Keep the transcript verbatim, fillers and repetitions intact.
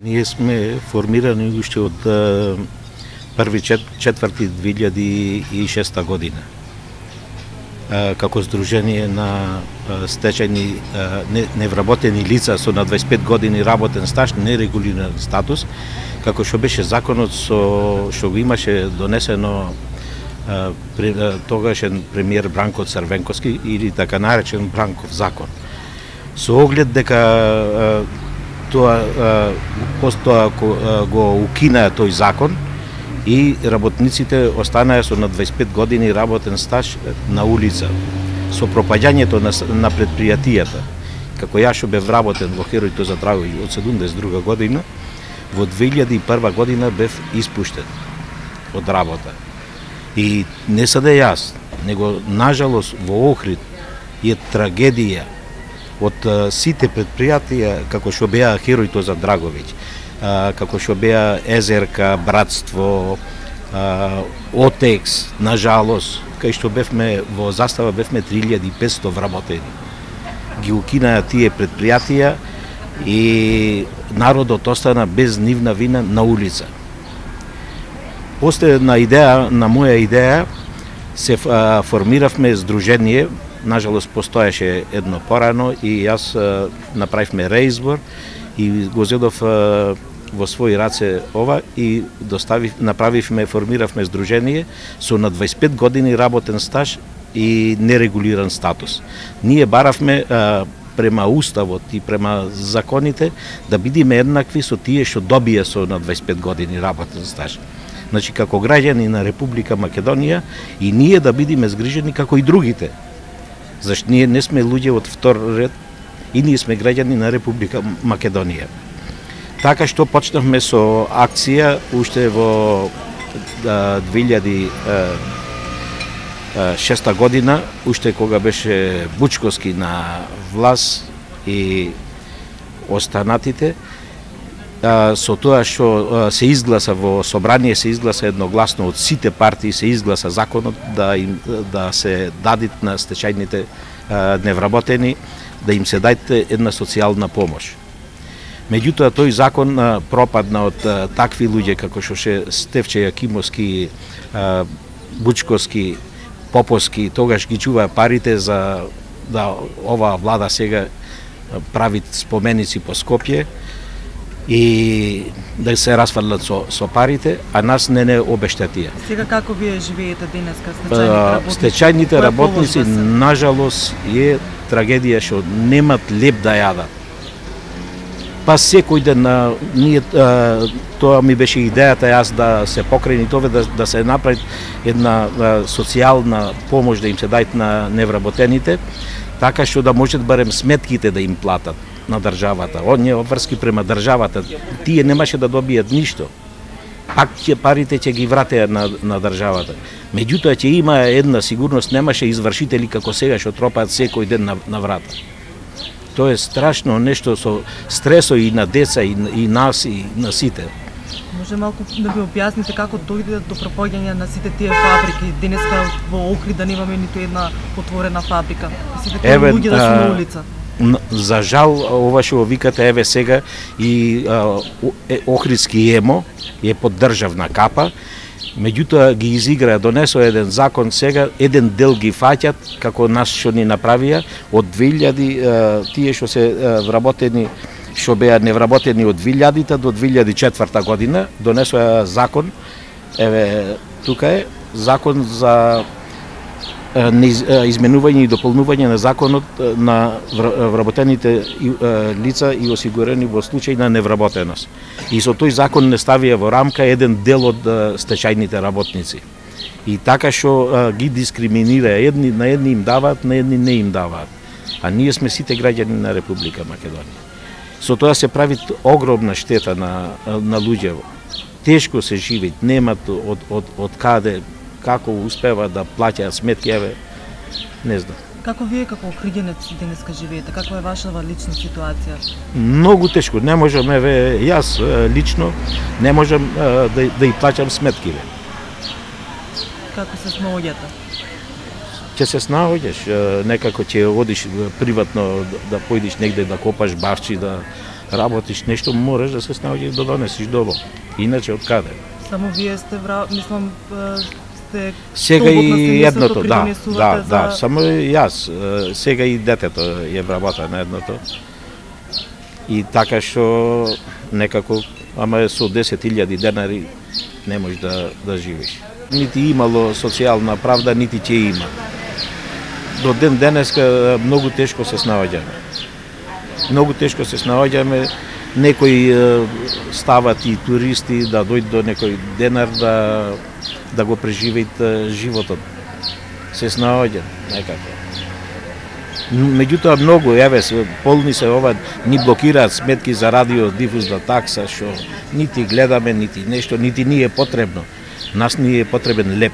Ние сме формирани уште од први четврти две илјади и шеста година како Сдружение на стечајни невработени лица со на дваесет и пет години работен стаж, нерегулиран статус, како што беше законот со што го имаше донесено тогашен премиер Бранко Црвенковски или така наречен Бранков закон. Со оглед дека тоа постоа го укинаа тој закон и работниците останаа со на дваесет и пет години работен стаж на улица. Со пропаѓањето на, на предпријатијата, како ја што бев работен во Херојто за Драгови од седумдесет и друга година, во две илјади и прва година бев испуштен од работа. И не саде јас, него нажалост во Охрид е трагедија од сите предпријатија како што беа Херојто за Драговиќ, како што беа Езерка, Братство, Отекс, нажалост, кај што бевме во Застава бевме три илјади и петстотини вработени. Ги укинаа тие предпријатија и народот остана без нивна вина на улица. После на идеја, на моја идеја, се формиравме здружение. Нажалост постоеше едно порано и јас направивме реизбор и го зедов во своји раце ова и доставив, направивме, формиравме здружение со на дваесет и пет години работен стаж и нерегулиран статус. Ние баравме према уставот и према законите да бидеме еднакви со тие што добија со на дваесет и пет години работен стаж. Значи како граѓани на Република Македонија и ние да бидеме згрижени како и другите. Зашто ние не сме луѓе од втор ред и ние сме граѓани на Република Македонија. Така што почнавме со акција уште во две илјади и шеста година, уште кога беше Бучковски на власт и останатите, со тоа што се изгласа во собрание, се изгласа едногласно од сите партии, се изгласа законот да им да се дадат на стечајните невработени, да им се даде една социјална помош. Меѓутоа тој закон пропадна од такви луѓе како што ше Стефче Јакимовски, Бучковски, Поповски, тогаш ги чуваа парите за да оваа влада сега прави споменици по Скопје и да се расфрлат со, со парите, а нас не не обештетија. Сега како вие живеете денеска стечајните работници? Стечајните работници, нажалост, е трагедија што немат леп да јадат. Па секој ден на ние а, тоа ми беше идејата јас да се покрени тоа да, да се направи една а, социјална помош да им се дајат на невработените, така што да можат барем сметките да им платат на државата. Оние обврски према државата, тие немаше да добијат ништо. Пак ќе парите ќе ги вратеа на, на државата. Меѓутоа ќе има една сигурност, немаше извршители како сега што тропаат секој ден на, на врата. Тоа е страшно нешто со стресо и на деца и, и нас и на сите. Може малку да ви објасните како дојде до пропаѓање на сите тие фабрики? Денеска во Охрид да немаме ниту една отворена фабрика. Сите тие луѓе да се на улица. За жал, ова што викате, еве сега и а, Охридски емо е под државна капа, меѓутоа ги изигра, донесо еден закон сега, еден дел ги фаќат, како нас што ни направија, од две илјади, а, тие што се а, вработени, што беа невработени од две илјадите до две илјади и четврта година, донесоа закон, еве, тука е, закон за изменување и дополнување на законот на вработените лица и осигурени во случај на невработеност. И со тој закон не ставија во рамка еден дел од стечајните работници. И така што ги дискриминира, едни на едни им даваат, на едни не им даваат. А ние сме сите граѓани на Република Македонија. Со тоа се прави огромна штета на на луѓе. Тешко се живеат, немат од од од каде како успева да плаќаат сметки, еве, не знам. Како вие како охриѓенец денеска живеете? Каква е вашава лична ситуација? Многу тешко, не можам, еве, јас лично не можам да да и плаќам сметкиве. Како се снаоѓате? Ќе се снаоѓаш, некако ќе одиш приватно да појдеш негде да копаш бавчи, да работиш нешто, мораш да се снаоѓаш да донесиш дома. Иначе од каде? Само вие сте вра... мислам сте сега и едното, да, да, за... да, само јас, сега и детето е вработа на едното. И така што некако, ама со десет илјади денари не можеш да да живееш. Нити имало социјална правда, нити ќе има. До ден денеска многу тешко се снаоѓаме. Многу тешко се снаоѓаме. Некои стават и туристи да дојдат до некој денар да да го преживеат животот. Се снаоѓат некако. Меѓутоа многу, еве, полни се ова, ни блокираат сметки за радио дифузна такса, што нити гледаме, нити нешто, нити ни е потребно. Нас ни е потребен леп.